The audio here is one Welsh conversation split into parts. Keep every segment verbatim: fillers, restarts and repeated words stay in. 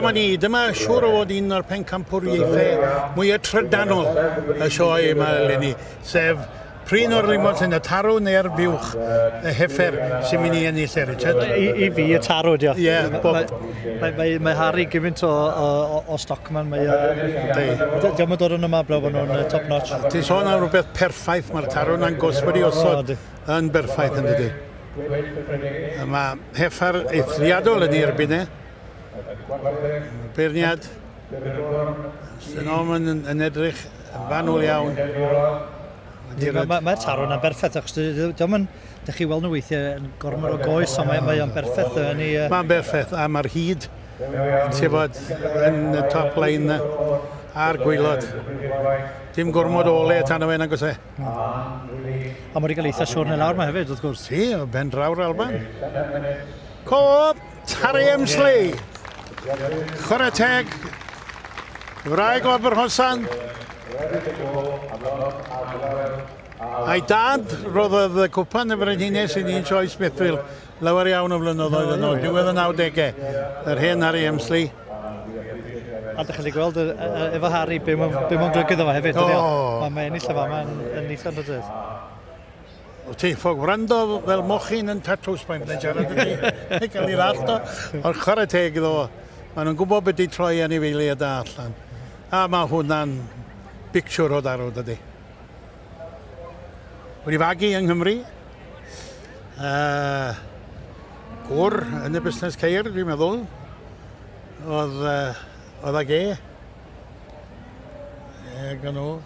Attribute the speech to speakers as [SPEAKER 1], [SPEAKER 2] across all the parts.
[SPEAKER 1] dyma ni, dyma siŵr o fod un o'r pencampwriaethau mwyaf trydanol y sioe yma eleni, sef prin o'r limosins, y tarw neu'r fuwch, y heffer sy'n mynd i ennill e, Richard?
[SPEAKER 2] I, i fi, y tarw, dio.
[SPEAKER 1] Ie, yeah,
[SPEAKER 2] mae, mae, mae, mae Harry gymaint o, o, o stockman. Mae, uh, Diolch yn dod yn yma blew bod nhw'n top notch.
[SPEAKER 1] Ti'n sôn am rhywbeth perffaith, mae'r tarw na'n gosod i osod yn berffaith yn dydy. Mae heffer eithriadol yn ei erbyn e. Beirniad Sy'n yn, yn edrych yn fanwl iawn.
[SPEAKER 2] Mae'r ma, ma tarw yna'n berffaith, achos diolch yn, dych chi weld nhw weithiau yn gormod o goes, ond mae'n mae berffaith. Yn ei, uh...
[SPEAKER 1] Mae'n berffaith, a mae'r hyd, ti'n bod, yn y top line a'r gwaelod. Dim gormod o ole tan o fe, nag oes e.
[SPEAKER 2] A mae wedi cael eitha siwrne lawr ma hefyd, wrth gwrs.
[SPEAKER 1] Si, o ben draw'r Alban. Coop, Harry Emsley. Chwarae teg, wraig o Aberhosan. A'i dad roddodd y cwpan y frenhines i ni'n sioe Smithfield lawer iawn o flynyddoedd yn ôl, diwedd y nawdegau, yr hen Harry Emsley.
[SPEAKER 2] A dych chi'n gweld efo Harry, be mae'n golygu iddo fo hefyd. Oh. Mae'n ennill efo, mae'n ennill yn dod.
[SPEAKER 1] O ti, ffog wrando fel mochyn yn tatws mae'n byddai'n siarad y ti. Cael ei ddallt o. Ond chwarae teg iddo fo. Maen nhw'n gwybod beth i troi anifeiliaid da allan. A mae hwnna'n bicsiwr o darw, dydy. Wedi fagu yng Nghymru. Uh, gwr yn y busnes ceir, dwi'n meddwl. Oedd, uh, oedd ag e. E, gan nhw.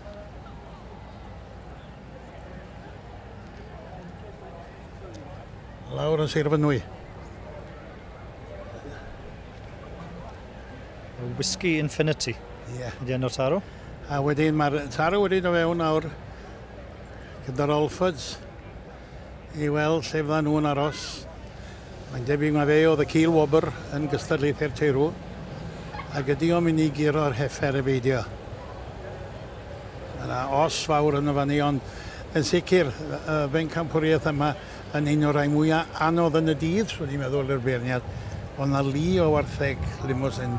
[SPEAKER 1] Lawr yn Sir Fynwy.
[SPEAKER 2] Whiskey Infinity.
[SPEAKER 1] Ie. Yeah.
[SPEAKER 2] Ydy enw'r tarw.
[SPEAKER 1] A wedyn mae'r tarw wedi dod fewn nawr gyda'r Alfords i weld lle fyddan nhw'n aros. Mae'n debyg mae fe oedd y cil wobr yn gystadlaethau'r teirw ac ydy o'n mynd i guro'r heffer y beidio. Mae yna os fawr yn y fan i, ond yn sicr y bencampwriaeth yma yn un o'r rhai mwyaf anodd yn y dydd, swn i'n meddwl i'r beirniad. Oedd yna lu o wartheg limousin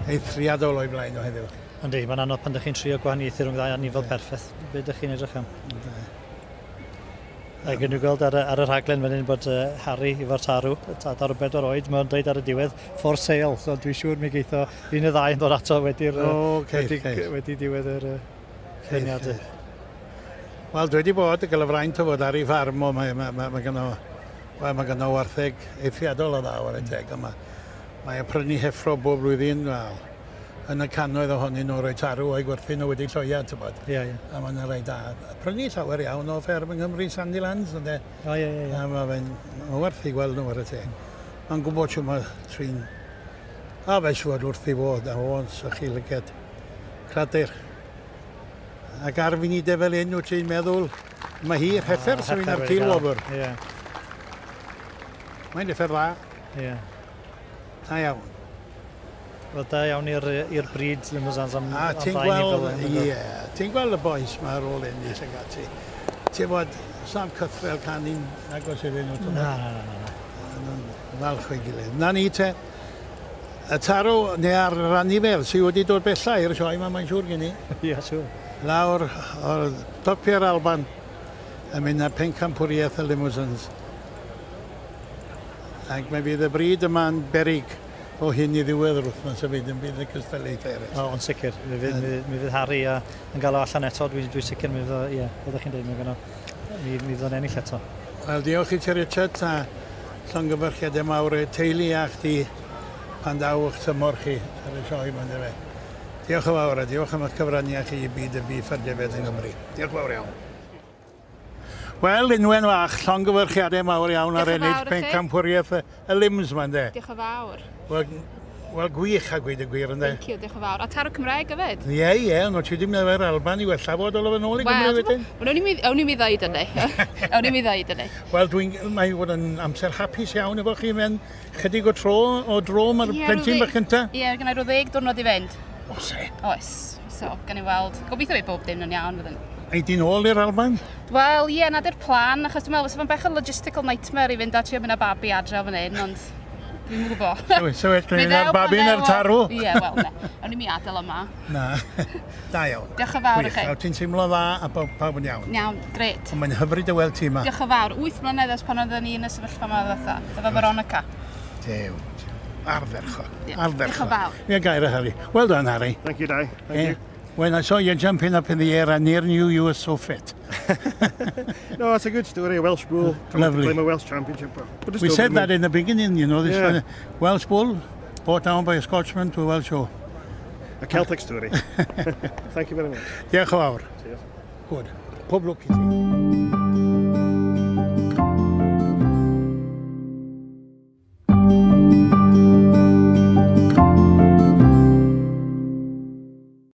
[SPEAKER 1] eithriadol o'i flaen o heddiw.
[SPEAKER 2] Yndi, mae'n anodd pan ydych chi'n trio gwahaniaethu rhwng ddau anifel perffaith. Be ydych chi'n edrych am? A gen i gweld ar, ar y rhaglen fan hyn bod uh, Harry efo'r tarw, tarw bedwar oed, mae'n dweud ar y diwedd, for sale, so dwi'n siŵr mi geitho un y ddau yn dod ato wedi'r
[SPEAKER 1] oh, okay,
[SPEAKER 2] wedi,
[SPEAKER 1] okay.
[SPEAKER 2] wedi diwedd yr uh, lluniadau.
[SPEAKER 1] Wel, dwi wedi bod yn cael y fraint o fod ar ei ffarm o, mae, mae, mae, mae gynno, wel, mae gynno wartheg eithriadol o dda ar y teg, a mae, mae prynu heffro bob blwyddyn, wel, yn y cannoedd ohonyn nhw roi tarw o'i gwerthu nhw wedi lloia, ti'n bod.
[SPEAKER 2] Ie, ie.
[SPEAKER 1] A mae'n rhai da. Prynu llawer iawn o fferm yng Nghymru, Sandylands, ynde.
[SPEAKER 2] O, ie, ie, ie.
[SPEAKER 1] A mae fe'n ma werth i gweld nhw ar y teg. Mae'n gwybod siw mae trin... A fe siwr wrth i fod, a o'n sychu lyged. Cradur. Ac ar funudau fel un, wyt ti'n meddwl, mae hi'r heffer sy'n mynd ar cil wobr.
[SPEAKER 2] Ie.
[SPEAKER 1] Mae'n heffer dda.
[SPEAKER 2] Ie.
[SPEAKER 1] Da iawn.
[SPEAKER 2] Wel, da iawn i'r bryd limousins am,
[SPEAKER 1] a
[SPEAKER 2] am
[SPEAKER 1] ti'n gweld, ie, ti'n gweld y boys ma ar ôl ennill ag ati. Ti'n bod, Sam Cythrel canu'n agos iddyn nhw.
[SPEAKER 2] Na, na, na, na.
[SPEAKER 1] Falch o'i gilydd. Na ni te, y tarw neu ar yr anifel sydd wedi dod bella i'r sioe yma, mae'n siŵr gen i.
[SPEAKER 2] Ie, siŵr.
[SPEAKER 1] Lawr o'r topiau'r Alban yn mynd â pencampwriaeth y limousins. Ac mae fydd y bryd yma'n berig o hyn i ddiwedd yr wythnos hefyd yn bydd y cystadlaethau eraill.
[SPEAKER 2] O, ond sicr. Mi fydd, mi, mi fydd Harry a, yn gael o allan eto. Dwi'n dwi sicr mi fydd o, ie, oeddech chi'n dweud, mi fydd mi, mi fydd o'n ennill eto.
[SPEAKER 1] Wel, diolch i ti, Richard, a llongyfarchiadau mawr i'r teulu a chdi pan daw eich tymor chi ar y sioe yma, yndyfe. Diolch yn fawr a diolch am eich cyfraniad chi i byd y bîff a'r defaid yng Nghymru. Diolch yn fawr iawn. Wel, Unwen fach, llongyfarchiadau mawr iawn ar ennill pencampwriaeth y lims yma, ynde?
[SPEAKER 3] Diolch yn fawr.
[SPEAKER 1] Wel, wel, gwych a gweud y gwir, ynde?
[SPEAKER 3] Thank you, diolch yn fawr. A tarw Cymraeg hefyd?
[SPEAKER 1] Ie, ie, ond ti ddim efo'r Alban i wella fod o yn ôl i Gymru wedyn?
[SPEAKER 3] Wel, o'n i'n mi ddeud hynny. O'n i'n mi ddeud hynny.
[SPEAKER 1] Wel, dwi'n, mae'n fod yn amser hapus iawn efo chi mewn chydig o tro, o dro mae'r plentyn bach cynta.
[SPEAKER 3] Ie, gen i rhyw ddeg diwrnod i fynd.
[SPEAKER 1] Oes e?
[SPEAKER 3] Oes. So, gan i weld. Gobeithio bydd bob dim yn iawn wedyn.
[SPEAKER 1] Ei di'n ôl i'r Alban?
[SPEAKER 3] Wel, ie, na di'r plan, achos dwi'n meddwl, fysa fo'n bech o logistical nightmare i fynd a trio mynd â babi adre o fan hyn, ond Dwi'n gwybod.
[SPEAKER 1] So, so well,
[SPEAKER 3] Mi
[SPEAKER 1] gen
[SPEAKER 3] ddew
[SPEAKER 1] i'r
[SPEAKER 3] pan
[SPEAKER 1] babi'n
[SPEAKER 3] ddew
[SPEAKER 1] a'r
[SPEAKER 3] o.
[SPEAKER 1] tarw.
[SPEAKER 3] Ie, wel, ne. O'n i'n mi adael yma.
[SPEAKER 1] Na, da iawn.
[SPEAKER 3] Diolch yn fawr i
[SPEAKER 1] Gwych.
[SPEAKER 3] chi.
[SPEAKER 1] A ti'n teimlo dda a pawb, pawb yn iawn.
[SPEAKER 3] Iawn, gret.
[SPEAKER 1] Ond mae'n hyfryd o weld ti yma.
[SPEAKER 3] Diolch yn fawr. Wyth mlynedd ers pan oedden ni yn y sefyllfa yma ddiwetha. Efo Veronica.
[SPEAKER 1] Dew. Ardderchog.
[SPEAKER 3] Ie.
[SPEAKER 1] Ardderchog.
[SPEAKER 3] Diolch yn fawr.
[SPEAKER 1] Ie, gair o Harry. Well done, Harry.
[SPEAKER 4] Thank you, Dai. Thank
[SPEAKER 1] Eh,
[SPEAKER 4] you.
[SPEAKER 1] When I saw you jumping up in the air, I near knew you were so fit.
[SPEAKER 4] No, it's a good story. A Welsh bull coming
[SPEAKER 1] Lovely.
[SPEAKER 4] to claim a Welsh championship. But just
[SPEAKER 1] We
[SPEAKER 4] over
[SPEAKER 1] said
[SPEAKER 4] the
[SPEAKER 1] that
[SPEAKER 4] moon.
[SPEAKER 1] in the beginning, you know, this
[SPEAKER 4] Yeah.
[SPEAKER 1] one, Welsh bull brought down by a Scotchman to a Welsh show.
[SPEAKER 4] A Celtic story. Thank you very much.
[SPEAKER 1] Diolch yn fawr.
[SPEAKER 4] Cheers.
[SPEAKER 1] Good. Pob lwc i ti.